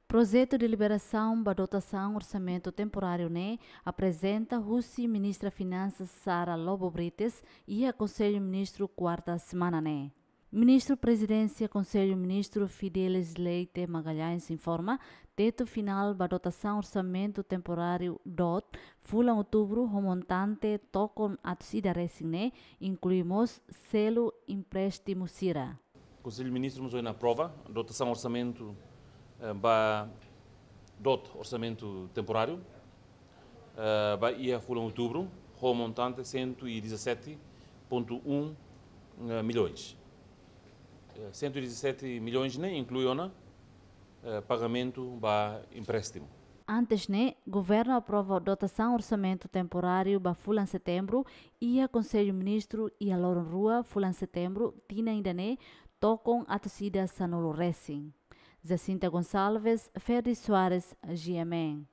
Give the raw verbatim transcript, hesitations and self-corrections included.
Projetu deliberasaun ba dotasaun orsamentu temporáriu ne'e aprezenta husi Ministra Finansas Sara Lobo Brites iha Konsellu Ministru kuarta semana ne'e. Ministru Prezidénsia Konsellu Ministru Fidelis Leite Magalhães informa, tetu finál ba dotasaun orsamentu temporáriu DOT fulan Outubru ho montante tokon atus ida resin ne'e inklui mós selu empréstimu sira. Konsellu Ministru mós ohin aprova dotasaun orsamentu, eh, ba DOT orsamentu temporáriu, eh, ba iha fulan Outubru, ho montante cento e dezassete ponto um, eh, milhões. Eh, cento e dezassete milhões ne'e inklui ona, eh, pagamentu ba empréstimu. Antes ne'e, Governu aprova dotasaun orsamentu temporáriu ba fulan Setembru iha Konsellu Ministru iha loron rua fulan Setembru tinan ida-ne'e tokon atus ida sanulu resin. Jacinta Gonçalves, Ferdi Soares, G M N.